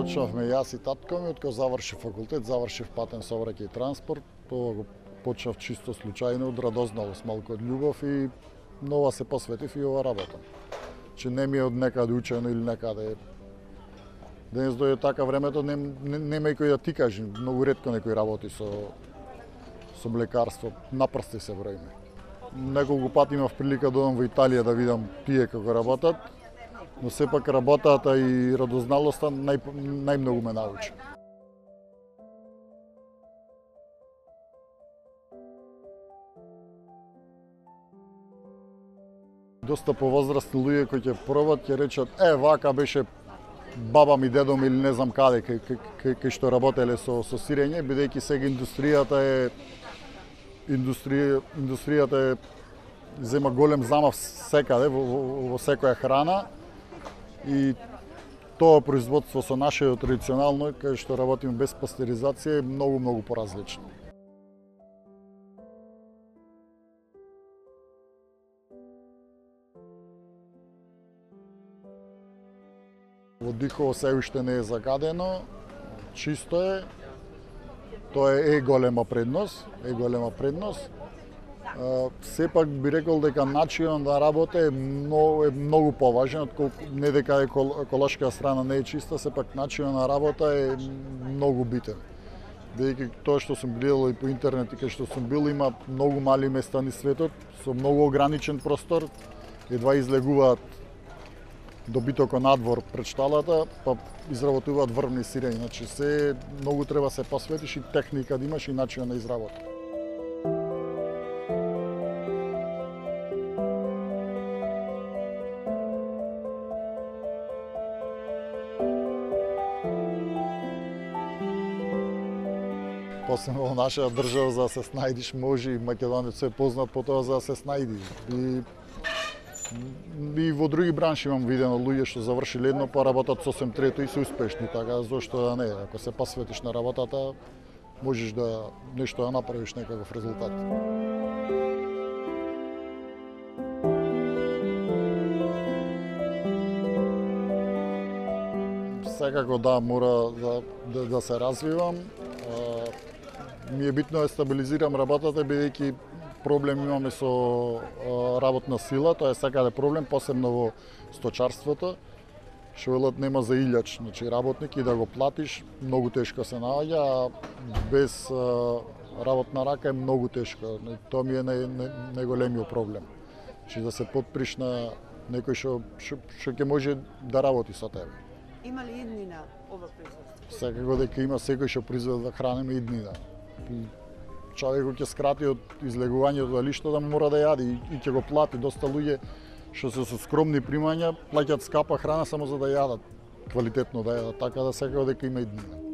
Почнавме јас и татко ми, откако завршив факултет, завршив патен сообраќај и транспорт. Тоа го почнав чисто случајно, од радозналост, малку од љубов и нова се посветив и ова работа. Че не ми е од некаде учено или некаде. Денес дојде така времето, нема и кој да ти кажи, многу ретко некој работи со млекарство, на прсти се броиме. Неколку пати имав прилика да одам во Италија да видам тие како работат, но сепак работата и радозналоста најмногу ме научи. Доста повозрастни луѓе кои ќе пробат ќе речат вака беше баба ми, дедо ми или не знам каде кај што работеле со сирење, бидејќи сега индустријата зема голем замав секаде во секоја храна и тоа производство со нашето традиционално кај што работиме без пастеризација е многу поразлично. Во Дихово се уште не е загадено, чисто е. Тоа е голема предност, Сепак би рекол дека начинот на работа е многу поважен, отколку не дека еколошка страна не е чиста, сепак начинот на работа е многу битен. Бидејќи тоа што сум гледал и по интернет и кај што сум бил, има многу мали места низ светот со многу ограничен простор, едва излегуваат добитокот надвор пред шталата, па изработуваат врвни сирења. Значи се многу треба се посветиш и техника да имаш и начин на изработа. Посебно во нашата држава за да се снајдиш, може и македонец е познат по тоа за да се снајди. И во други бранши имам видено луѓе што завршиле едно па работат сосем трето и се успешни, така зошто да не, ако се посветиш на работата, можеш да нешто да направиш некаков резултат. Секако да, мора да се развивам. Ми е битно да стабилизирам работата, бидејќи проблем имаме со работна сила, тоа е секаде проблем, посебно во сточарството. Што велат нема за илјач, значи работник и да го платиш, многу тешко се наоѓа, а без работна рака е многу тешко. Тоа ми е најголемиот проблем. Значи да се подприш на некој што ќе може да работи со тебе. Има ли иднина ова производство? Секако дека има, секој што произведува храна има иднина. Човекот ќе скрати од излегувањето дали што да мора да јаде и ќе го плати. Доста луѓе што се со скромни примања плаќаат скапа храна само за да јадат, квалитетно да јадат, така да секако дека има иднина.